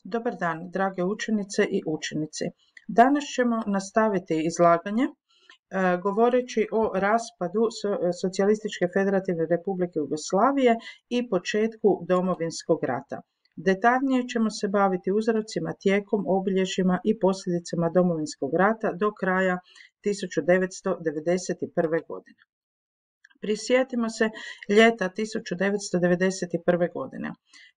Dobar dan, drage učenice i učenici. Danas ćemo nastaviti izlaganje govoreći o raspadu Socijalističke federativne republike Jugoslavije i početku Domovinskog rata. Detaljnije ćemo se baviti uzrocima, tijekom, obilježjima i posljedicama Domovinskog rata do kraja 1991. godine. Prisjetimo se ljeta 1991. godine.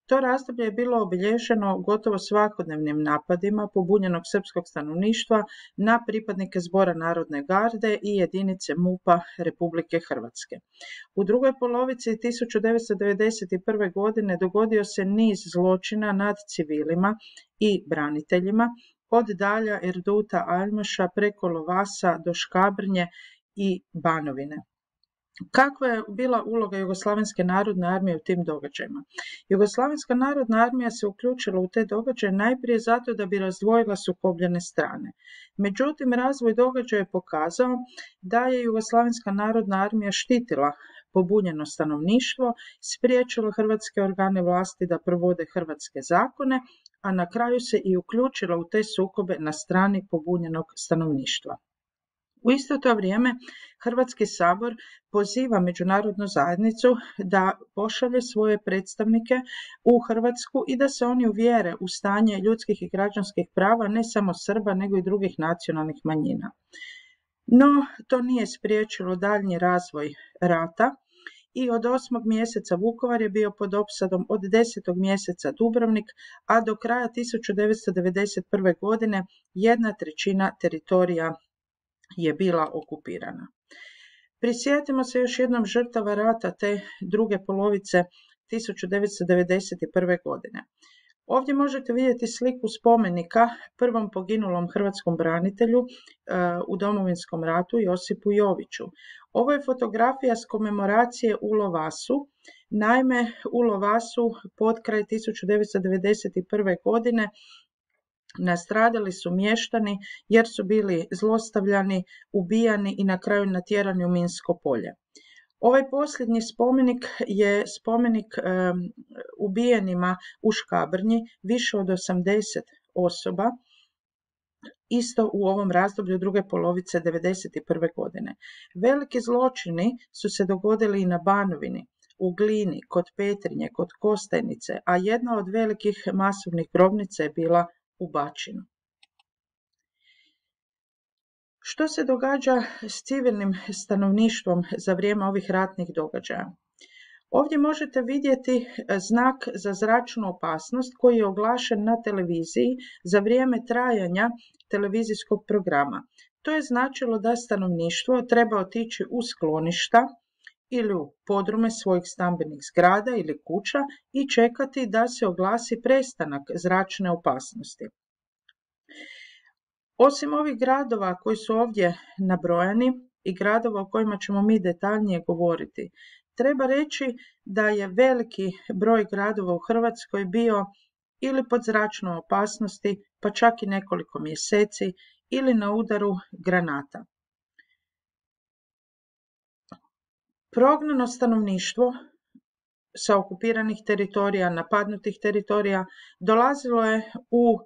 To razdoblje je bilo obilježeno gotovo svakodnevnim napadima pobunjenog srpskog stanovništva na pripadnike Zbora narodne garde i jedinice MUP-a Republike Hrvatske. U drugoj polovici 1991. godine dogodio se niz zločina nad civilima i braniteljima, od Dalja, Erduta, Aljmaša preko Lovasa do Škabrnje i Banovine. Kakva je bila uloga Jugoslavenske narodne armije u tim događajima? Jugoslavenska narodna armija se uključila u te događaje najprije zato da bi razdvojila sukobljene strane. Međutim, razvoj događaja je pokazao da je Jugoslavenska narodna armija štitila pobunjeno stanovništvo, spriječila hrvatske organe vlasti da provode hrvatske zakone, a na kraju se i uključila u te sukobe na strani pobunjenog stanovništva. U isto to vrijeme Hrvatski sabor poziva međunarodnu zajednicu da pošalje svoje predstavnike u Hrvatsku i da se oni uvjere u stanje ljudskih i građanskih prava ne samo Srba nego i drugih nacionalnih manjina. No, to nije spriječilo daljnji razvoj rata i od 8. mjeseca Vukovar je bio pod opsadom, od 10. mjeseca Dubrovnik, a do kraja 1991. godine 1/3 teritorija je bila okupirana. Prisjetimo se još jednom žrtava rata te druge polovice 1991. godine. Ovdje možete vidjeti sliku spomenika prvom poginulom hrvatskom branitelju u Domovinskom ratu Josipu Joviću. Ovo je fotografija s komemoracije u Lovasu. Naime, u Lovasu potkraj 1991. godine nastradali su mještani jer su bili zlostavljani, ubijani i na kraju natjerani u minsko polje. Ovaj posljednji spomenik je spomenik ubijenima u Škabrnji, više od 80 osoba, isto u ovom razdoblju druge polovice 1991. godine. Veliki zločini su se dogodili i na Banovini, u Glini, kod Petrinje, kod Kostajnice, a jedna od velikih masovnih grobnica je bila u Bačinu. Što se događa s civilnim stanovništvom za vrijeme ovih ratnih događaja? Ovdje možete vidjeti znak za zračnu opasnost koji je oglašen na televiziji za vrijeme trajanja televizijskog programa. To je značilo da stanovništvo treba otići u skloništa ili u podrume svojih stambenih zgrada ili kuća i čekati da se oglasi prestanak zračne opasnosti. Osim ovih gradova koji su ovdje nabrojani i gradova o kojima ćemo mi detaljnije govoriti, treba reći da je veliki broj gradova u Hrvatskoj bio ili pod zračnom opasnosti, pa čak i nekoliko mjeseci, ili na udaru granata. Prognano stanovništvo sa okupiranih teritorija, napadnutih teritorija, dolazilo je u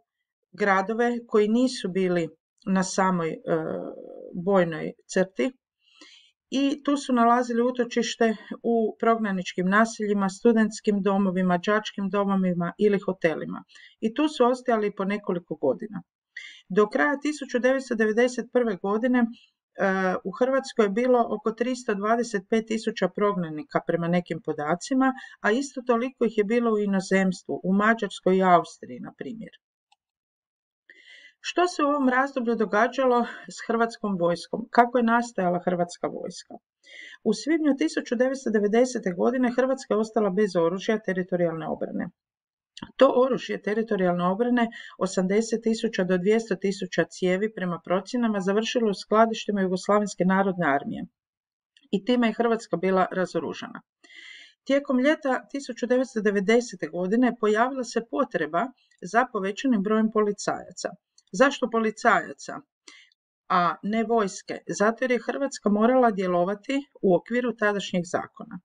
gradove koji nisu bili na samoj bojnoj crti i tu su nalazili utočište u prognaničkim naseljima, studentskim domovima, đačkim domovima ili hotelima. I tu su ostajali po nekoliko godina. Do kraja 1991. godine u Hrvatskoj je bilo oko 325.000 prognanika prema nekim podacima, a isto toliko ih je bilo u inozemstvu, u Mađarskoj i Austriji, na primjer. Što se u ovom razdoblju događalo s hrvatskom vojskom? Kako je nastajala hrvatska vojska? U svibnju 1990. godine Hrvatska je ostala bez oružja teritorijalne obrane. To oružje teritorijalne obrane, 80.000 do 200.000 cijevi prema procjenama, završilo u skladištima Jugoslavenske narodne armije i time je Hrvatska bila razoružana. Tijekom ljeta 1990. godine pojavila se potreba za povećanim brojem policajaca. Zašto policajaca, a ne vojske? Zato jer je Hrvatska morala djelovati u okviru tadašnjeg zakona.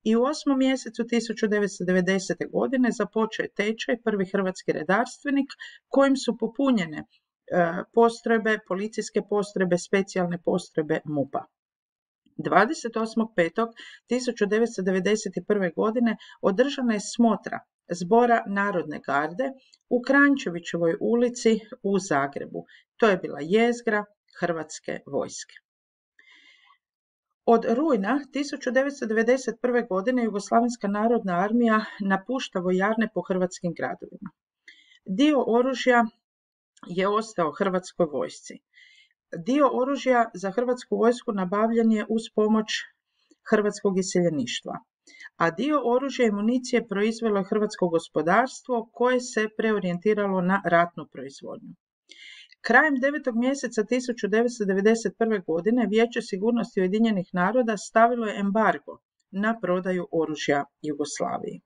I u 8. mjesecu 1990. godine započeo je tečaj prvi hrvatski redarstvenik kojim su popunjene postrojbe, policijske postrojbe, specijalne postrojbe MUP-a. 28.5.1991. godine održana je smotra Zbora Narodne garde u Kranjčevićevoj ulici u Zagrebu. To je bila jezgra Hrvatske vojske. Od rujna 1991. godine Jugoslavenska narodna armija napušta vojarne po hrvatskim gradovima. Dio oružja je ostao Hrvatskoj vojsci. Dio oružja za Hrvatsku vojsku nabavljen je uz pomoć hrvatskog iseljeništva, a dio oružja i municije proizvelo je hrvatsko gospodarstvo koje se preorijentiralo na ratnu proizvodnju. Krajem 9. mjeseca 1991. godine Vijeće sigurnosti Ujedinjenih naroda stavilo je embargo na prodaju oružja Jugoslaviji.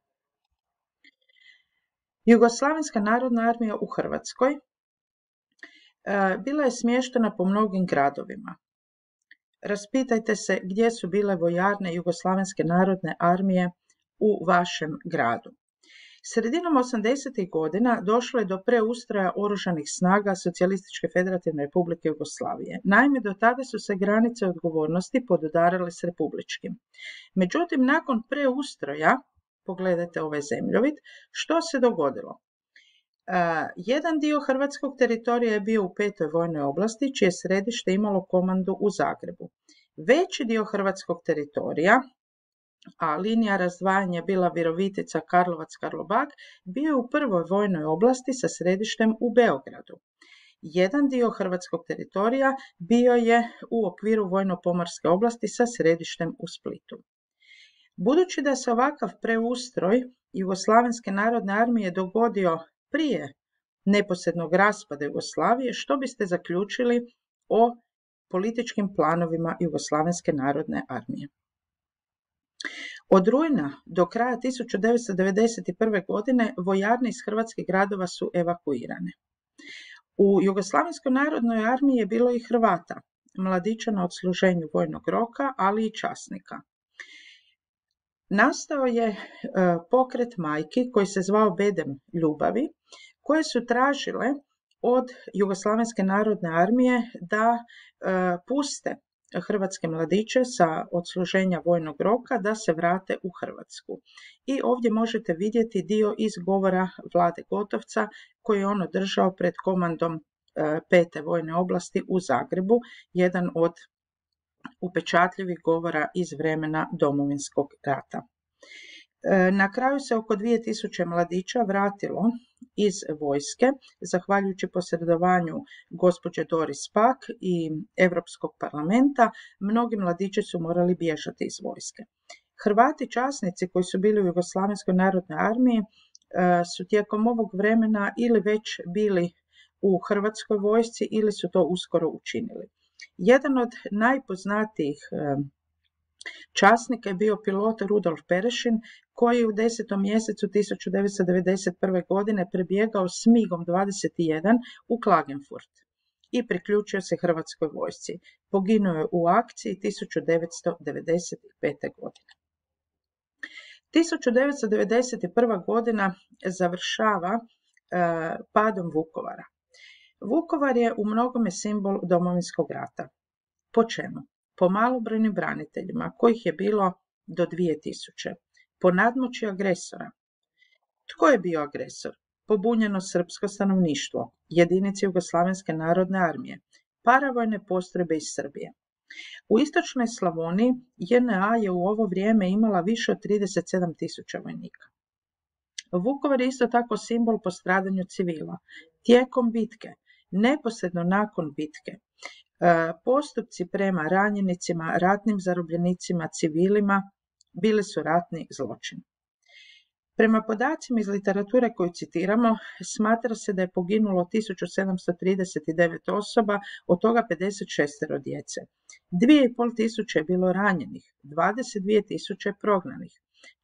Jugoslavenska narodna armija u Hrvatskoj bila je smještena po mnogim gradovima. Raspitajte se gdje su bile vojarne Jugoslavenske narodne armije u vašem gradu. Sredinom 80. godina došlo je do preustroja oružanih snaga Socijalističke federativne republike Jugoslavije. Naime, do tada su se granice odgovornosti podudarale s republičkim. Međutim, nakon preustroja, pogledajte ovaj zemljovid, što se dogodilo? Jedan dio hrvatskog teritorija je bio u 5. vojnoj oblasti, čije središte imalo komandu u Zagrebu. Veći dio hrvatskog teritorija, a linija razdvajanja je bila Virovitica, Karlovac, Karlobag, bio je u 1. vojnoj oblasti sa središtem u Beogradu. Jedan dio hrvatskog teritorija bio je u okviru vojno-pomorske oblasti sa središtem u Splitu. Budući da se ovakav preustroj Jugoslavenske narodne armije dogodio prije neposrednog raspada Jugoslavije, što biste zaključili o političkim planovima Jugoslavenske narodne armije? Od rujna do kraja 1991. godine vojarne iz hrvatskih gradova su evakuirane. U Jugoslavenskoj narodnoj armiji je bilo i Hrvata, mladića na odsluženju vojnog roka, ali i časnika. Nastao je pokret majki koji se zvao Bedem ljubavi, koje su tražile od Jugoslavenske narodne armije da puste hrvatske mladiće sa odsluženja vojnog roka da se vrate u Hrvatsku. I ovdje možete vidjeti dio iz govora Vlade Gotovca koji je on održao pred komandom 5. vojne oblasti u Zagrebu, jedan od upečatljivih govora iz vremena Domovinskog rata. Na kraju se oko 2000 mladića vratilo iz vojske, zahvaljujući posredovanju gospođe Doris Pack i Europskog parlamenta. Mnogi mladići su morali bježati iz vojske. Hrvati časnici koji su bili u Jugoslavenskoj narodnoj armiji su tijekom ovog vremena ili već bili u Hrvatskoj vojsci ili su to uskoro učinili. Jedan od najpoznatijih časnika je bio pilot Rudolf Perešin koji je u 10. mjesecu 1991. godine prebjegao s MIG-om 21 u Klagenfurt i priključio se Hrvatskoj vojsci. Poginuo je u akciji 1995. godine. 1991. godina završava padom Vukovara. Vukovar je u mnogome simbol Domovinskog rata. Po čemu? Po malobrojnim braniteljima, kojih je bilo do 2000. Po nadmoći agresora. Tko je bio agresor? Pobunjeno srpsko stanovništvo, jedinice Jugoslavenske narodne armije, paravojne postrojbe iz Srbije. U istočnoj Slavoniji JNA je u ovo vrijeme imala više od 37.000 vojnika. Vukovar je isto tako simbol po stradanju civila. Tijekom bitke, neposredno nakon bitke, postupci prema ranjenicima, ratnim zarobljenicima, civilima bili su ratni zločin. Prema podacima iz literature koju citiramo, smatra se da je poginulo 1739 osoba, od toga 56 djece. 2500 je bilo ranjenih, 22.000 prognanih,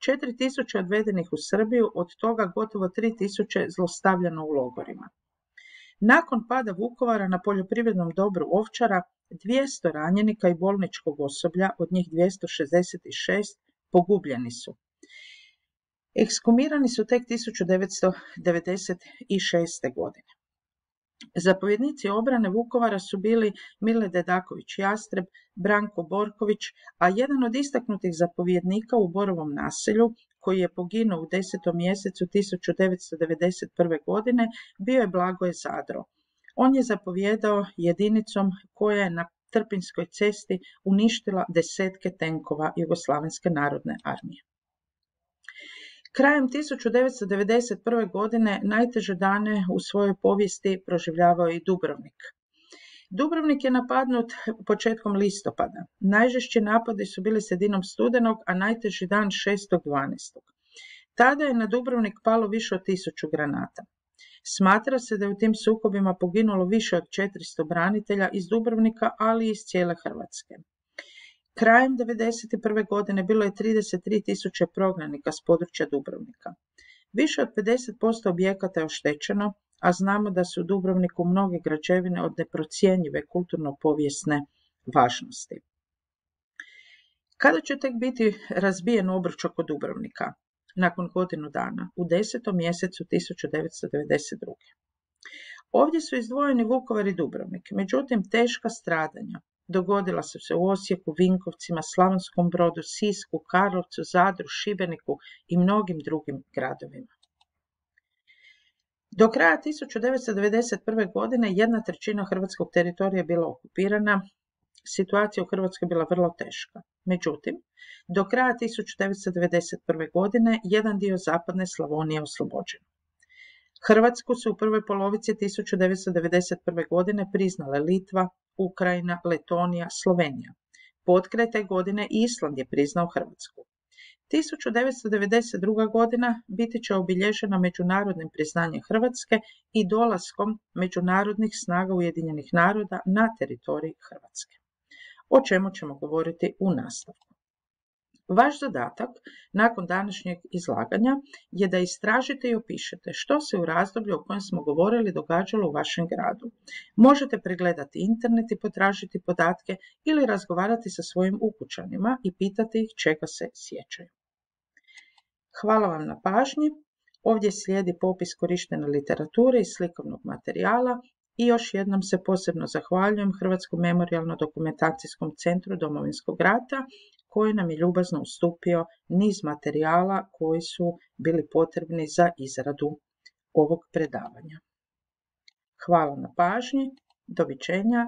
4.000 odvedenih u Srbiju, od toga gotovo 3.000 zlostavljano u logorima. Nakon pada Vukovara na poljoprivrednom dobru Ovčara, 200 ranjenika i bolničkog osoblja, od njih 266, pogubljeni su. Ekshumirani su tek 1996. godine. Zapovjednici obrane Vukovara su bili Mile Dedaković Jastreb, Branko Borković, a jedan od istaknutih zapovjednika u Borovom naselju, koji je poginuo u 10. mjesecu 1991. godine, bio je Blagoje Zadro. On je zapovjedao jedinicom koja je na Trpinjskoj cesti uništila desetke tenkova Jugoslavenske narodne armije. Krajem 1991. godine najteže dane u svojoj povijesti proživljavao je i Dubrovnik. Dubrovnik je napadnut početkom listopada. Najžešći napadi su bili sredinom studenog, a najteži dan 6.12. Tada je na Dubrovnik palo više od 1000 granata. Smatra se da je u tim sukobima poginulo više od 400 branitelja iz Dubrovnika, ali i iz cijele Hrvatske. Krajem 1991. godine bilo je 33.000 prognanika s područja Dubrovnika. Više od 50% objekata je oštećeno, a znamo da su u Dubrovniku mnoge građevine od neprocjenjive kulturno-povijesne važnosti. Kada će tek biti razbijen obruč oko Dubrovnika? Nakon godinu dana, u 10. mjesecu 1992. Ovdje su izdvojeni Vukovar i Dubrovnik, međutim teška stradanja dogodila su se u Osijeku, Vinkovcima, Slavonskom Brodu, Sisku, Karlovcu, Zadru, Šibeniku i mnogim drugim gradovima. Do kraja 1991. godine 1/3 hrvatskog teritorija je bila okupirana, situacija u Hrvatskoj je bila vrlo teška. Međutim, do kraja 1991. godine jedan dio zapadne Slavonije je oslobođen. Hrvatsku su u prvoj polovici 1991. godine priznale Litva, Ukrajina, Letonija, Slovenija. Potkraj te godine Island je priznao Hrvatsku. 1992. godina biti će obilježena međunarodnim priznanjem Hrvatske i dolaskom međunarodnih snaga Ujedinjenih naroda na teritorij Hrvatske, o čemu ćemo govoriti u nastavku. Vaš zadatak nakon današnjeg izlaganja je da istražite i opišete što se u razdoblju o kojem smo govorili događalo u vašem gradu. Možete pregledati internet i potražiti podatke ili razgovarati sa svojim ukućanima i pitati ih čega se sjećaju. Hvala vam na pažnji. Ovdje slijedi popis korištene literature i slikovnog materijala i još jednom se posebno zahvaljujem Hrvatskom memorijalno-dokumentacijskom centru Domovinskog rata koji nam je ljubazno ustupio niz materijala koji su bili potrebni za izradu ovog predavanja. Hvala na pažnji, doviđenja